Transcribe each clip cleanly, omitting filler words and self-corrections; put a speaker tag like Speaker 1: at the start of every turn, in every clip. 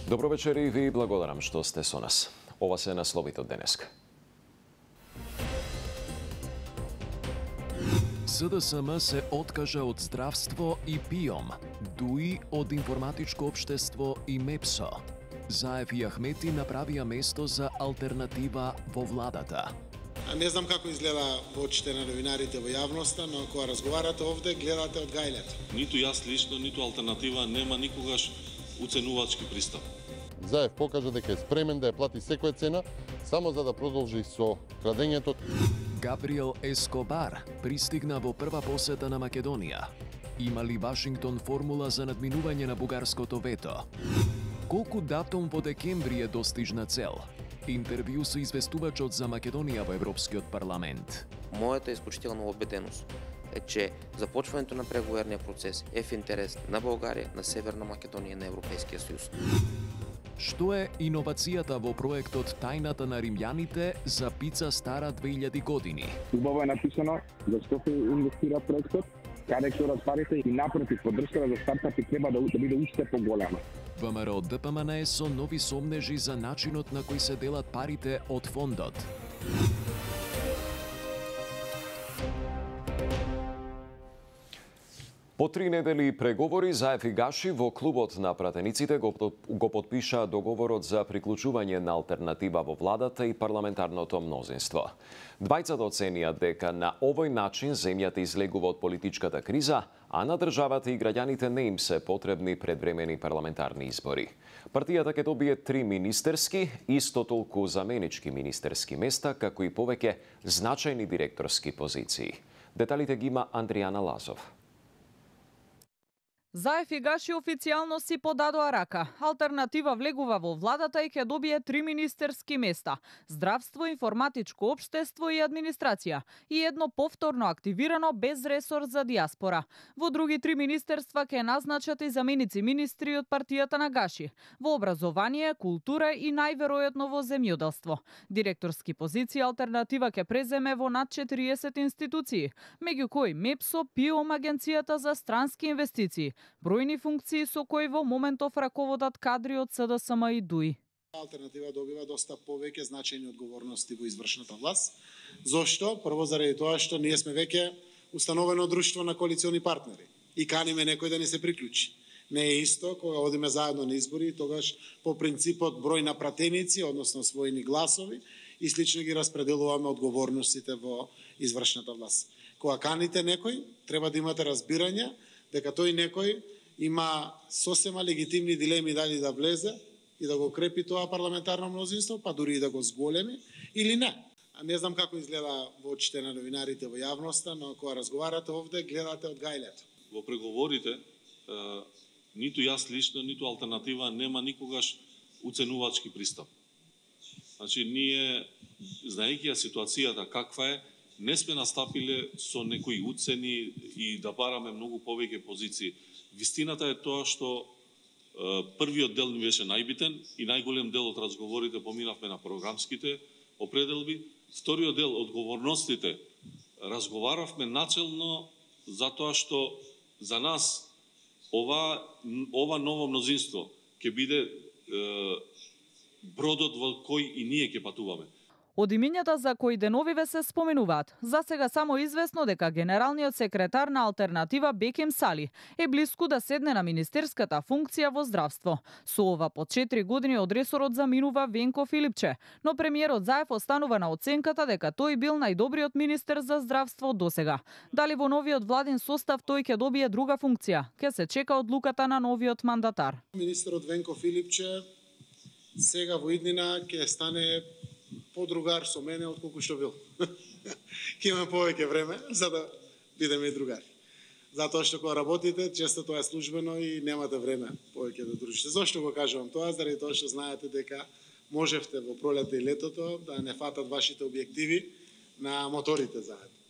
Speaker 1: Добро вечер и ви благодарам што сте со нас. Ова се насловите од денеска. СДСМ се откажа од здравство и ПИОМ, ДУИ од информатичко општество и МЕПСО. Заев и Ахмети направија место за алтернатива во владата.
Speaker 2: Не знам како изгледа во очите на новинарите во јавноста, но кога разговарате овде, гледате од гајлето.
Speaker 3: Ниту јас лично, ниту алтернатива нема никогаш уценувачки пристап.
Speaker 4: Заев покажа дека е спремен да ја плати секоја цена, само за да продолжи со крадењето.
Speaker 1: Габриел Ескобар пристигна во прва посета на Македонија. Има ли Вашингтон формула за надминување на бугарското вето? Колку датум во декември е достижна цел? Интервју со известувачот за Македонија во Европскиот парламент.
Speaker 5: Мојата исклучителна убеденост е че започването на преговорниот процес е в интерес на Българија, на Северна Македонија и на Европскиот сојуз.
Speaker 1: Што е иновацијата во проектот Тајната на римјаните за пица стара 2000 години?
Speaker 6: Убаво е написано зашто се инвестира проектот, каде ќе парите и напротив поддршката за стартапи треба да биде уште поголема.
Speaker 1: ВМРО ДПМН е со нови сомнежи за начинот на кој се делат парите од фондот. По 3 недели преговори, Заев и Гаши во клубот на пратениците го подпиша договорот за приклучување на алтернатива во владата и парламентарното мнозинство. Двајцата оценија дека на овој начин земјата излегува од политичката криза, а на државата и граѓаните не им се потребни предвремени парламентарни избори. Партијата ќе добие 3 министерски, исто толку заменички министерски места, како и повеќе значајни директорски позиции. Деталите ги има Андријана Лазов.
Speaker 7: Заев и Гаши официјално си подадоа рака. Алтернатива влегува во владата и ќе добие 3 министерски места: здравство, информатичко општество и администрација, и едно повторно активирано без ресор за диаспора. Во други 3 министерства ќе назначат и заменици министри од партијата на Гаши, во образование, култура и најверојатно во земјоделство. Директорски позиции алтернатива ќе преземе во над 40 институции, меѓу кои МЕПСО, ПИОМ, Агенцијата за странски инвестиции, бројни функции со кои во моментов раководат кадри од СДСМ и ДУИ.
Speaker 2: Алтернатива добива доста повеќе значајни одговорности во извршната власт. Зошто? Прво заради тоа што ние сме веќе установено друштво на коалициони партнери и каниме некој да ни се приклучи. Не е исто кога одиме заедно на избори, тогаш по принципот број на пратеници, односно својни гласови и слично ги распределуваме одговорностите во извршната власт. Кога каните некој, треба да имате разбирање дека тој некој има сосема легитимни дилеми дали да влезе и да го крепи тоа парламентарно мнозинство, па дури и да го зголеми или не. Не знам како изгледа во очите на новинарите во јавноста, но кога разговарате овде, гледате од гајлето.
Speaker 3: Во преговорите, ниту јас лично, ниту алтернатива нема никогаш уценувачки пристап. Значи, ние, знаејќи ја ситуацијата каква е, не сме настапиле со некои уцени и да бараме многу повеќе позиции. Вистината е тоа што првиот дел беше најбитен и најголем дел од разговорите поминавме на програмските определби. Вториот дел, одговорностите, разговаравме начелно затоа што за нас ова ново мнозинство ќе биде бродот во кој и ние ќе патуваме.
Speaker 7: Од имињата за кои деновиве се споменуваат, за сега само известно дека генералниот секретар на алтернатива Бекем Сали е блиску да седне на министерската функција во здравство. Со ова по 4 години од ресорот заминува Венко Филипче, но премиерот Заев останува на оценката дека тој бил најдобриот министер за здравство досега. Дали во новиот владин состав тој ќе добие друга функција, ќе се чека одлуката на новиот мандатар.
Speaker 2: Министерот Венко Филипче сега во иднина ќе стане подругар со мене отколку што бил. Ќе имаме повеќе време за да бидеме и другари. Затоа што кога работите, често тоа е службено и немате време повеќе да дружите. Зошто го кажувам тоа? Заради тоа што знаете дека можевте во пролета и летото да не фатат вашите објективи на моторите заедно.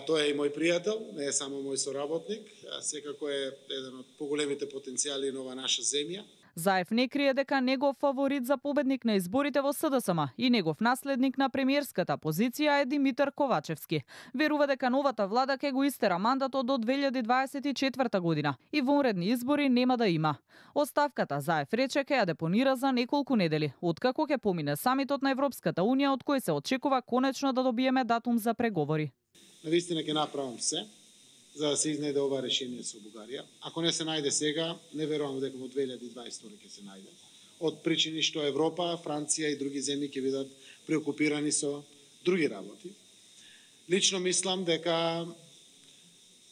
Speaker 2: Тој е и мој пријател, не е само мој соработник, секако е еден од поголемите потенцијали на ова наша земја.
Speaker 7: Заев не крие дека негов фаворит за победник на изборите во СДСМ и негов наследник на премиерската позиција е Димитар Ковачевски. Верува дека новата влада ќе го истера мандатот до 2024 година и вонредни избори нема да има. Оставката Заев рече ќе ја депонира за неколку недели, откако ќе помине самитот на Европската унија, од кој се очекува конечно да добиеме датум за преговори.
Speaker 2: Навистина ќе направам се за да се изнајде ова решение со Бугарија. Ако не се најде сега, не верувам дека во 2022 ќе се најде. Од причини што Европа, Франција и други земји ќе бидат преокупирани со други работи. Лично мислам дека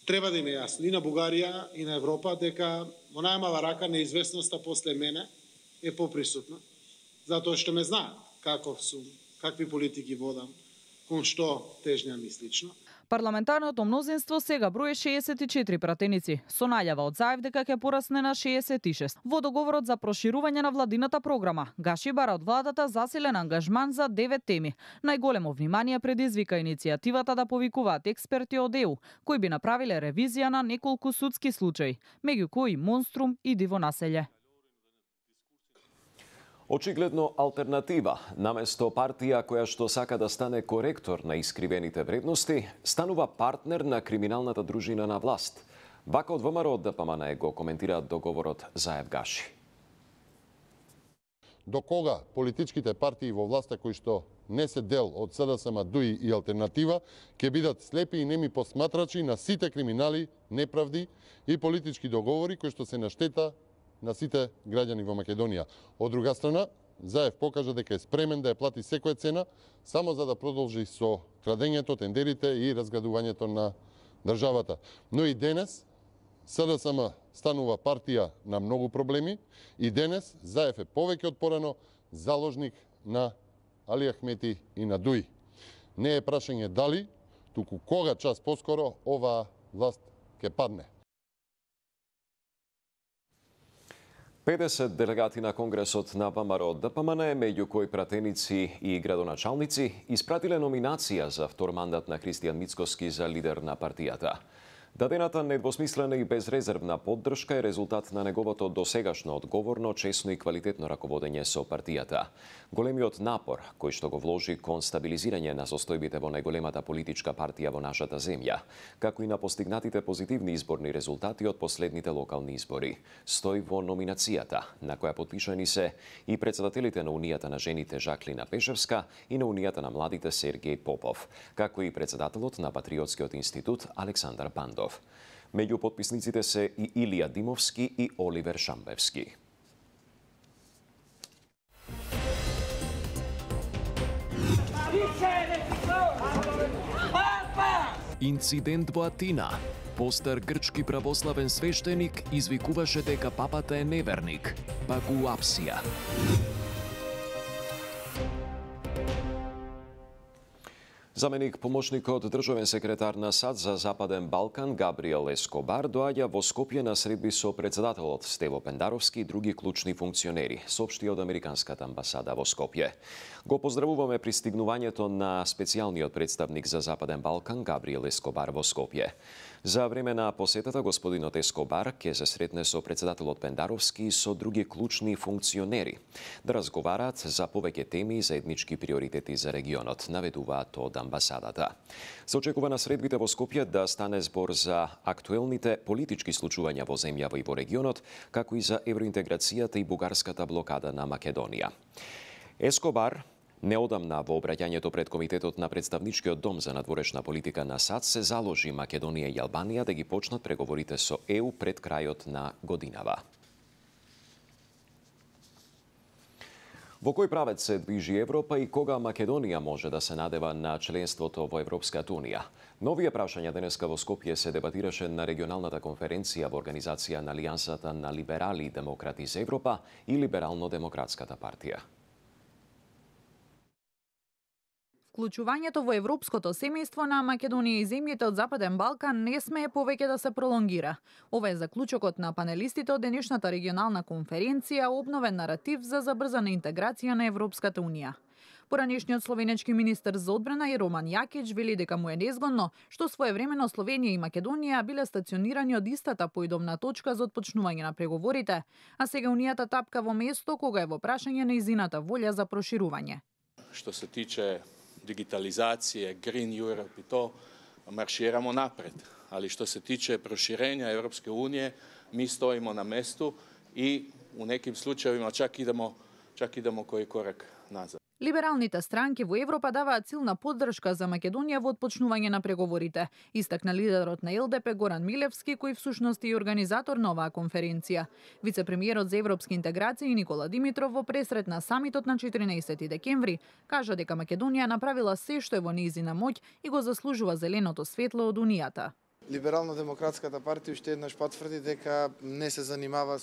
Speaker 2: треба да им е јасно и на Бугарија и на Европа дека во најмала рака неизвестноста после мене е поприсутна, затоа што ме знаат каков сум, какви политики водам, кон што тежнам и слично.
Speaker 7: Парламентарното мнозинство сега брои 64 пратеници, со најава од Заев дека ќе порасне на 66. Во договорот за проширување на владината програма, Гаши бара од владата засилен ангажман за 9 теми. Најголемо внимание предизвика иницијативата да повикуваат експерти од ЕУ, кои би направиле ревизија на неколку судски случаи, меѓу кои Монструм и Диво населје.
Speaker 1: Очигледно алтернатива, наместо партија која што сака да стане коректор на искривените вредности, станува партнер на криминалната дружина на власт. Вака од ВМРО ДПМН го коментираат договорот Заев Гаши.
Speaker 4: До кога политичките партии во власта кои што не се дел од СДСМ, ДУИ и алтернатива ќе бидат слепи и неми посматрачи на сите криминали, неправди и политички договори кои што се на штета на сите граѓани во Македонија. Од друга страна, Заев покажа дека е спремен да ја плати секоја цена само за да продолжи со крадењето, тендерите и разградувањето на државата. Но и денес СДСМ станува партија на многу проблеми и денес Заев е повеќе од порано заложник на Али Ахмети и на ДУИ. Не е прашање дали, туку кога час поскоро оваа власт ќе падне.
Speaker 1: 50 делегати на Конгресот на ВМРО ДПМН, меѓу кои пратеници и градоначалници, испратиле номинација за втор мандат на Христијан Мицкоски за лидер на партијата. Дадената недвосмислена и безрезервна поддршка е резултат на неговото досегашно одговорно, честно и квалитетно раководење со партијата. Големиот напор кој што го вложи кон стабилизирање на состојбите во најголемата политичка партија во нашата земја, како и на постигнатите позитивни изборни резултати од последните локални избори, стои во номинацијата, на која потпишани се и председателите на Унијата на жените Жаклина Пешевска и на Унијата на младите Сергеј Попов, како и председателот на Патриотскиот институт Александар Пандов. Меѓу потписниците се и Илија Димовски и Оливер Шамбевски.
Speaker 8: Инцидент во Атина. Постар грчки православен свештеник извикуваше дека папата е неверник, па го апсија.
Speaker 1: Заменик помошникот државен секретар на САД за Западен Балкан Габриел Ескобар доаѓа во Скопје на средби со председателот Стево Пендаровски и други клучни функционери, соопшти од Американската амбасада во Скопје. Го поздравуваме пристигнувањето на специјалниот представник за Западен Балкан Габриел Ескобар во Скопје. За време на посетата, господинот Ескобар ќе се сретне со председателот Пендаровски и со други клучни функционери да разговараат за повеќе теми и заеднички приоритети за регионот, наведуваат од амбасадата. Се очекува на средбите во Скопје да стане збор за актуелните политички случувања во земјава и во регионот, како и за евроинтеграцијата и бугарската блокада на Македонија. Ескобар неодамна во обраќањето пред Комитетот на Представничкиот дом за надворешна политика на САД се заложи Македонија и Албанија да ги почнат преговорите со ЕУ пред крајот на годинава. Во кој правец се движи Европа и кога Македонија може да се надева на членството во Европската унија? Новија прашања денеска во Скопје се дебатираше на регионалната конференција во организација на Алијансата на либерали и демократи за Европа и Либерално-демократската партија.
Speaker 7: Вклучувањето во европското семејство на Македонија и земјите од Западен Балкан не смее повеќе да се пролонгира. Ова е заклучокот на панелистите од денешната регионална конференција, обновен наратив за забрзана интеграција на Европската унија. Поранешниот словенечки министер за одбрана Роман Јакич вели дека му е незгодно што своевремено Словенија и Македонија биле стационирани од истата поидовна точка за отпочнување на преговорите, а сега Унијата тапка во место кога е во прашање нејзината волја за проширување.
Speaker 9: Што се тиче дигитализација, Green Europe и то, марширамо напред. Али што се тиче проширења Европске Унije, ми стоимо на месту и у неким случаевима чак идемо кој корак назад.
Speaker 7: Либералните странки во Европа даваат силна поддршка за Македонија во отпочнување на преговорите, истакна лидерот на ЛДП Горан Милевски, кој всушност е и организатор на оваа конференција. Вице-премиерот за европски интеграции Никола Димитров во пресрет на самитот на 14 декември кажа дека Македонија направила се што е во нејзина моќ и го заслужува зеленото светло од Унијата.
Speaker 10: Либерално-демократската партија уште еднаш потврди дека не се занимава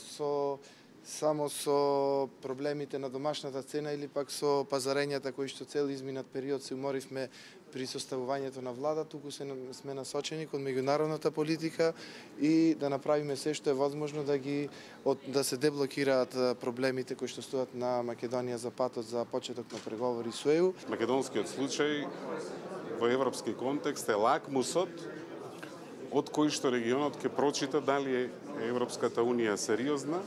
Speaker 10: само со проблемите на домашната цена или пак со пазарењата кои што цел изминат период се уморивме при составувањето на влада, туку сме насочени кон меѓународната политика и да направиме се што е возможно да се деблокираат проблемите кои што стојат на Македонија за патот за почеток на преговори со ЕУ.
Speaker 11: Македонскиот случај во европски контекст е лакмусот од кој што регионот ќе прочита дали е Европската Унија сериозна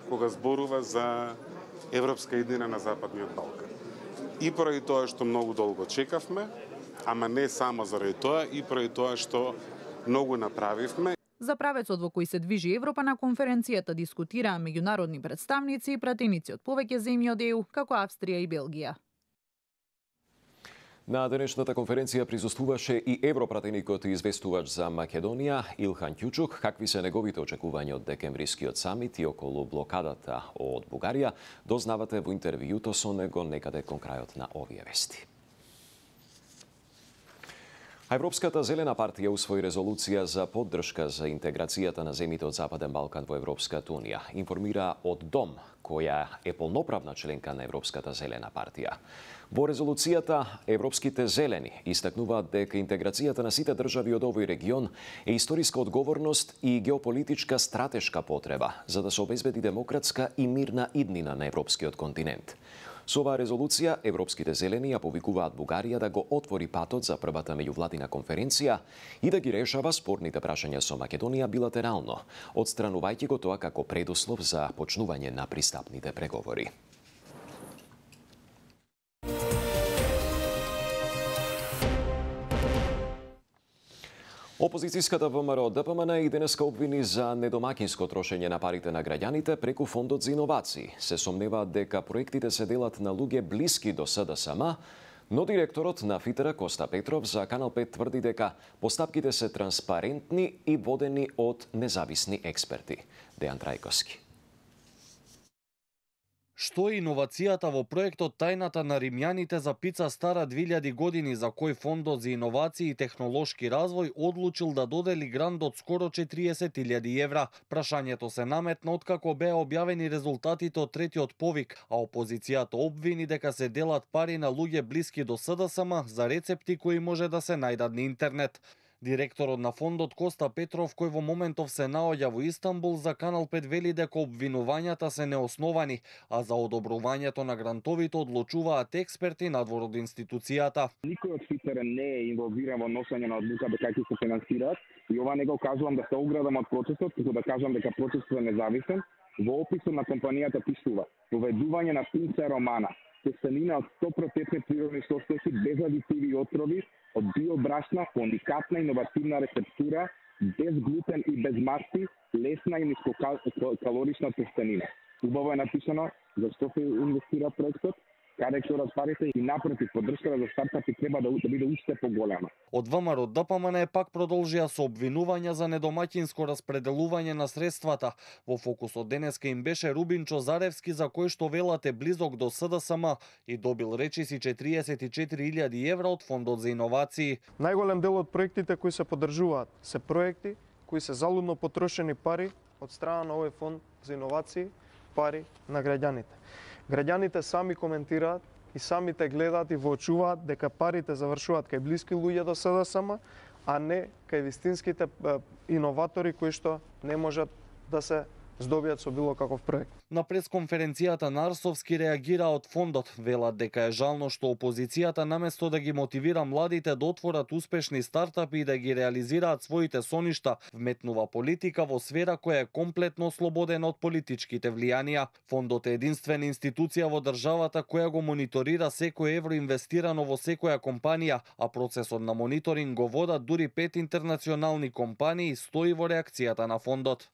Speaker 11: кога зборува за европска иднина на Западниот Балкан. И поради тоа што многу долго чекавме, ама не само заради тоа, и поради тоа што многу направивме.
Speaker 7: За правецот во кој се движи Европа на конференцијата дискутираа меѓународни представници и пратеници од повеќе земји од ЕУ, како Австрија и Белгија.
Speaker 1: На денешната конференција присуствуваше и европратеникот и известувач за Македонија Илхан Ќучук. Какви се неговите очекувања од декемврискиот самит и околу блокадата од Бугарија, дознавате во интервјуто со него некаде кон крајот на овие вести. Европската зелена партија усвои резолуција за поддршка за интеграцијата на земјите од Западен Балкан во Европската Унија, информира од ДОМ, која е полноправна членка на Европската зелена партија. Во резолуцијата, европските зелени истакнуваат дека интеграцијата на сите држави од овој регион е историска одговорност и геополитичка стратешка потреба за да се обезбеди демократска и мирна иднина на европскиот континент. Со оваа резолуција, европските зелени ја повикуваат Бугарија да го отвори патот за првата меѓувладина конференција и да ги решава спорните прашања со Македонија билатерално, отстранувајќи го тоа како предуслов за почнување на пристапните преговори. Опозицијската ВМРО ДПМН и денеска обвини за недомакинско трошење на парите на граѓаните преку Фондот за иновации. Се сомневаат дека проектите се делат на луѓе блиски до СДСМ, но директорот на ФИТР Коста Петров за Канал 5 тврди дека постапките се транспарентни и водени од независни експерти. Дејан Трајковски.
Speaker 12: Што е иновацијата во проектот Тајната на римјаните за пица стара 2000 години за кој Фондот за иновации и технолошки развој одлучил да додели грант од скоро 40.000 евра? Прашањето се наметна откако беа објавени резултатите од третиот повик, а опозицијата обвини дека се делат пари на луѓе блиски до СДСМ за рецепти кои може да се најдат на интернет. Директорот на фондот Коста Петров, кој во моментов се наоѓа во Истанбул, за Канал 5 вели дека обвинувањата се неосновани, а за одобрувањето на грантовите одлучуваат експерти надвор од институцијата.
Speaker 6: Никој од ФИТР не е инволвиран во носење на одлука дека ќе се финансираат и ова не го кажувам да се оградам од процесот, туку да кажам дека процесот е независен. Во описот на компанијата пишува: воведување на пинца романа, тестанина од 100% природни состојки без адитиви и отрови, од биобрашна, уникатна иновативна рецептура, без глутен и без масти, лесна и нискокалорична тестанина. Убаво е написано зашто се инвестира проектот, каде ќе одат парите и напротив, поддршката за стартапи треба да биде уште поголема.
Speaker 12: Од ВМРО ДПМН пак продолжија со обвинувања за недомаќинско распределување на средствата. Во фокусот денеска им беше Рубин Чозаревски, за кој што велат е близок до СДСМ и добил речиси 44.000 евра од Фондот за иновации.
Speaker 13: Најголем дел од проектите кои се поддржуваат се проекти кои се залудно потрошени пари од страна на овој Фонд за иновации, пари на граѓаните. Граѓаните сами коментираат и самите гледаат и воочуваат дека парите завршуваат кај блиски луѓе до СДСМ, а не кај вистинските иноватори кои што не можат да се здобијат со било каков проект.
Speaker 12: На пресконференцијата на Арсовски реагира од фондот, велат дека е жално што опозицијата наместо да ги мотивира младите да отворат успешни стартапи и да ги реализираат своите соништа, вметнува политика во сфера која е комплетно ослободена од политичките влијанија. Фондот е единствена институција во државата која го мониторира секој евро инвестирано во секоја компанија, а процесот на мониторинг го водат дури 5 интернационални компании, стои во реакцијата на фондот.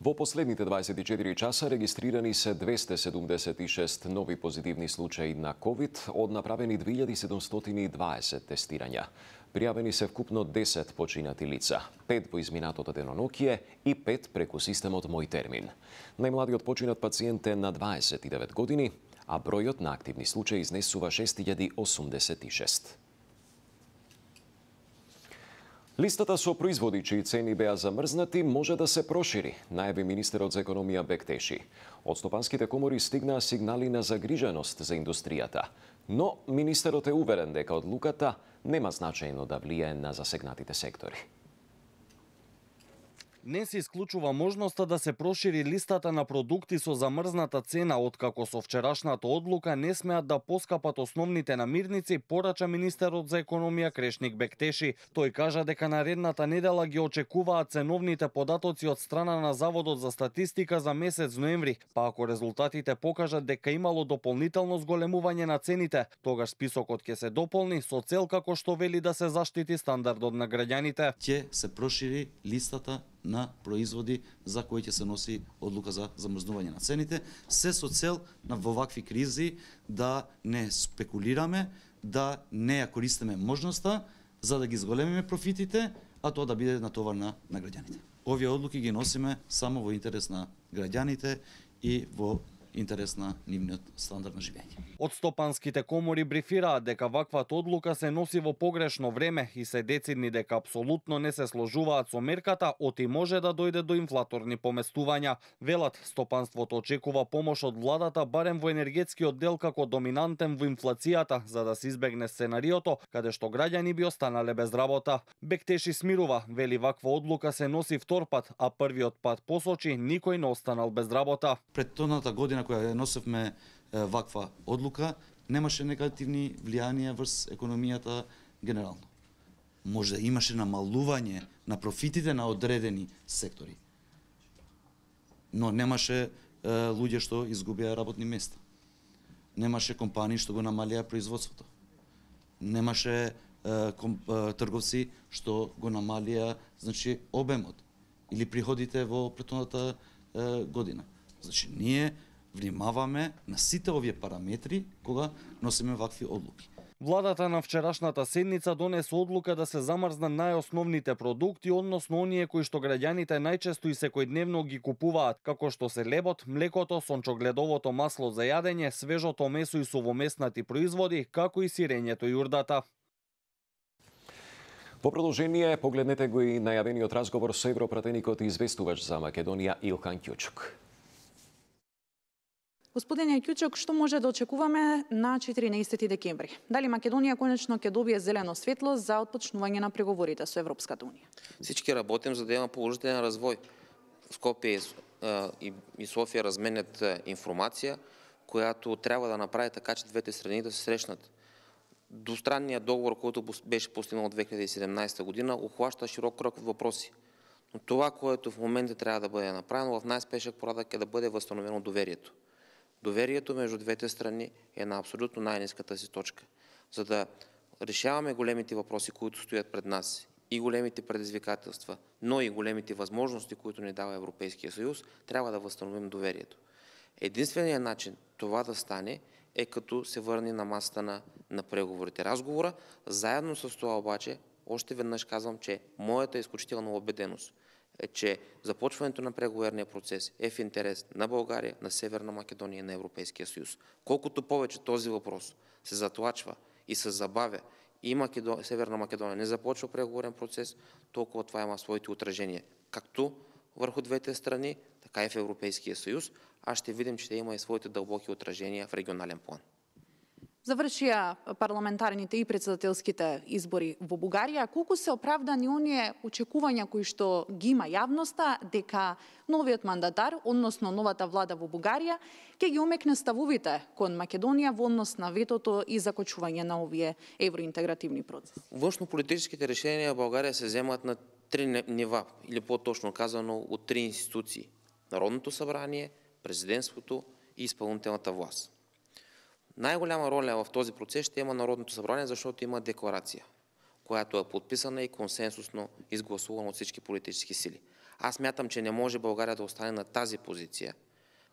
Speaker 1: Во последните 24 часа регистрирани се 276 нови позитивни случаи на COVID од направени 2720 тестирања. Пријавени се вкупно 10 починати лица, 5 во изминатото денонокие и 5 преку системот Мој термин. Најмладиот починат пациент е на 29 години, а бројот на активни случаи изнесува 6086. Листата со производи чии цени беа замрзнати може да се прошири, најави министерот за економија Бектеши. Од стопанските комори стигнаа сигнали на загриженост за индустријата, но министерот е уверен дека одлуката нема значајно да влијае на засегнатите сектори.
Speaker 12: Не се исклучува можноста да се прошири листата на продукти со замрзната цена, откако со вчерашната одлука не смеат да поскапат основните намирници, порача министерот за економија Крешник Бектеши. Тој кажа дека наредната недела ги очекуваат ценовните податоци од страна на Заводот за статистика за месец ноември, па ако резултатите покажат дека имало дополнително зголемување на цените, тогаш списокот ќе се дополни со цел како што вели да се заштити стандардот на граѓаните.
Speaker 14: Ќе се прошири листата на производи за кои ќе се носи одлука за замрзнување на цените, се со цел на во вакви кризи да не спекулираме, да не ја користиме можноста за да ги зголемиме профитите, а тоа да биде натовар на граѓаните. Овие одлуки ги носиме само во интерес на граѓаните и во интерес на нивниот стандард на живење.
Speaker 12: Од стопанските комори брифираат дека ваквата одлука се носи во погрешно време и се децидни дека апсолутно не се сложуваат со мерката, оти може да дојде до инфлаторни поместувања. Велат, стопанството очекува помош од владата барем во енергетскиот дел како доминантен во инфлацијата, за да се избегне сценариото каде што граѓани би останале без работа. Бектеши смирува, вели ваква одлука се носи втор пат, а првиот пат посочи никој не останал без работа.
Speaker 14: Предходната година која носевме ваква одлука, немаше негативни влијанија врз економијата генерално. Може да имаше намалување на профитите на одредени сектори, но немаше луѓе што изгубија работни места. Немаше компании што го намалија производството. Немаше трговци што го намалија, значи, обемот или приходите во претходната година. Значи, ние внимаваме на сите овие параметри кога носиме вакви одлуки.
Speaker 12: Владата на вчерашната седница донесе одлука да се замрзнат најосновните продукти, односно оние кои што граѓаните најчесто и секојдневно ги купуваат, како што се лебот, млекото, сончогледовото масло за јадење, свежото месо и сувомеснати производи, како и сирењето и урдата.
Speaker 1: Во продолжение, погледнете го и најавениот разговор со европратеникот и известувач за Македонија Илхан Ќучук.
Speaker 15: Господине Ќучук, што може да очекуваме на 14 декември? Дали Македонија конечно ќе добие зелено светло за отпочнување на преговорите со Европската унија?
Speaker 5: Всички работим за да има положителен развој. Скопје и Софија разменят информација, којато треба да направи така че двете страни да се срещнат. Двустранниот договор, којто беше постигнат од 2017 година, ухваща широк крог въпроси. Но това, което в момента трябва да бъде направено в най-спешен порядък е да бъде възстановено доверието. Доверието между двете страни е на абсолютно най-ниската си точка. За да решаваме големите въпроси, които стоят пред нас, и големите предизвикателства, но и големите възможности, които ни дава Европейския съюз, трябва да възстановим доверието. Единственият начин това да стане е като се върне на масата на преговорите. Разговора, заедно с това обаче, още веднъж казвам, че моята изключителна убеденост е, че започването на преговорния процес е в интерес на България, на Северна Македония и на Европейския съюз. Колкото повече този въпрос се затлачва и се забавя и Северна Македония не започва преговорен процес, толкова това има своите отражения, както върху двете страни, така и в Европейския съюз, а ще видим, че те има и своите дълбоки отражения в регионален план.
Speaker 15: Завршија парламентарните и претседателските избори во Бугарија. Колку се оправдани оние очекувања кои што ги има јавноста дека новиот мандатар, односно новата влада во Бугарија, ќе ги омекне ставовите кон Македонија во однос на ветото и закочување на овие евроинтегративни процеси?
Speaker 5: Външнополитическите решенија во Бугарија се земат на три нива, или по-точно казано од три институции: Народното събрание, президентството и изпълнителната власт. Најголема роля в този процес ще има Народното събрание, защото има декларация, която е подписана и консенсусно изгласувана от всички политически сили. Аз мятам, че не може България да остане на тази позиция,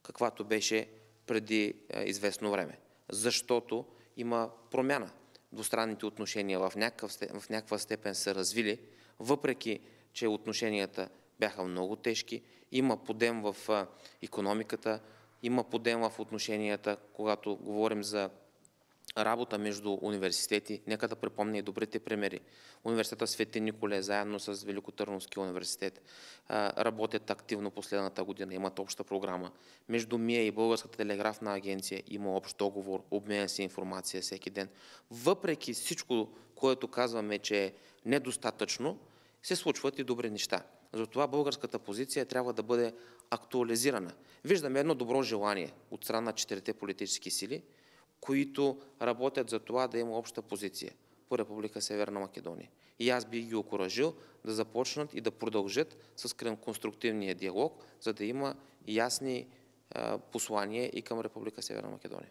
Speaker 5: каквато беше преди известно време, защото има промяна. Двустранните отношения в някаква степен се развили, въпреки че отношенията бяха много тежки. Има подем в икономиката, има подем в отношенията, когато говорим за работа между университети. Нека да припомня и добрите примери. Университета Свети Николай заедно с Великотърновския университет работят активно последната година, имат обща програма. Между МИА и Българската телеграфна агенция има общ договор, обменя се информация всеки ден. Въпреки всичко, което казваме, че е недостатъчно, се случват и добри неща. Затова българската позиция трябва да бъде актуализирана. Виждаме едно добро желание от страна на четирите политически сили, които работят за това да има обща позиция по Република Северна Македония. И аз бих ги окуражил да започнат и да продължат с конструктивния диалог, за да има ясни послания и към Република Северна Македония.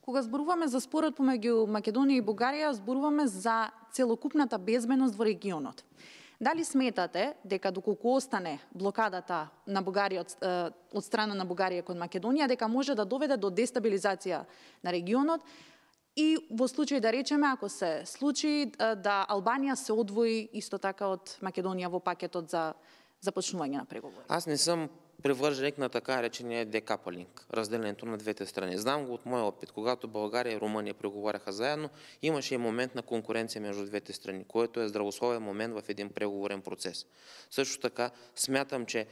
Speaker 15: Кога зборуваме за спорот помеѓу Македонија и Бугарија, зборуваме за целокупната безбедност во регионот. Дали сметате дека доколку остане блокадата на Бугарија од страна на Бугарија кон Македонија, дека може да доведе до дестабилизација на регионот и во случај да речеме, ако се случи да Албанија се одвои исто така од Македонија во пакетот за започнување на преговори?
Speaker 5: Аз не съм привърженик на така речения декапалинг, разделението на двете страни. Знам го от моя опит. Когато България и Румъния преговаряха заедно, имаше и момент на конкуренция между двете страни, което е здравословен момент в един преговорен процес. Също така смятам, че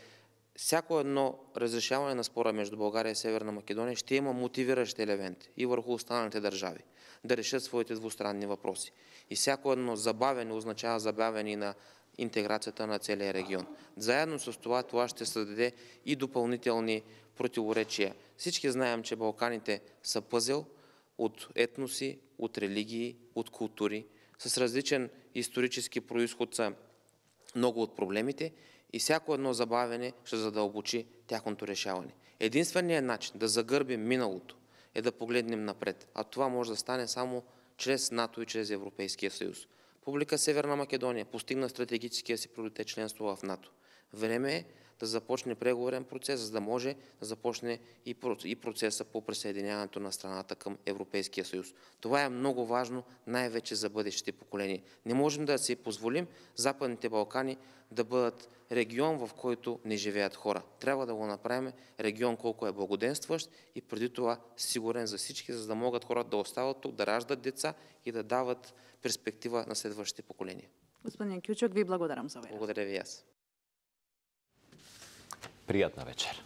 Speaker 5: всяко едно разрешаване на спора между България и Северна Македония ще има мотивиращи елементи и върху останалите държави да решат своите двустранни въпроси. И всяко едно забавяне означава забавяне на интеграцията на целия регион. Заедно с това ще създаде и допълнителни противоречия. Всички знаем, че Балканите са пъзел от етноси, от религии, от култури, с различен исторически произход са много от проблемите и всяко едно забавяне ще задълбочи тяхното решаване. Единственият начин да загърбим миналото е да погледнем напред, а това може да стане само чрез НАТО и чрез Европейския съюз. Република Северна Македония постигна стратегическия си приоритет членство в НАТО. Време е да започне преговорен процес, за да може да започне и процеса по присъединяването на страната към Европейския съюз. Това е много важно, най-вече за бъдещите поколения. Не можем да си позволим Западните Балкани да бъдат регион, в който не живеят хора. Трябва да го направим регион, колко е благоденстващ и преди това сигурен за всички, за да могат хората да остават тук, да раждат деца и да дават перспектива на следващите поколения.
Speaker 15: Господин Кючук, ви благодарам за време.
Speaker 5: Благодаря ви аз.
Speaker 1: Приятна вечер.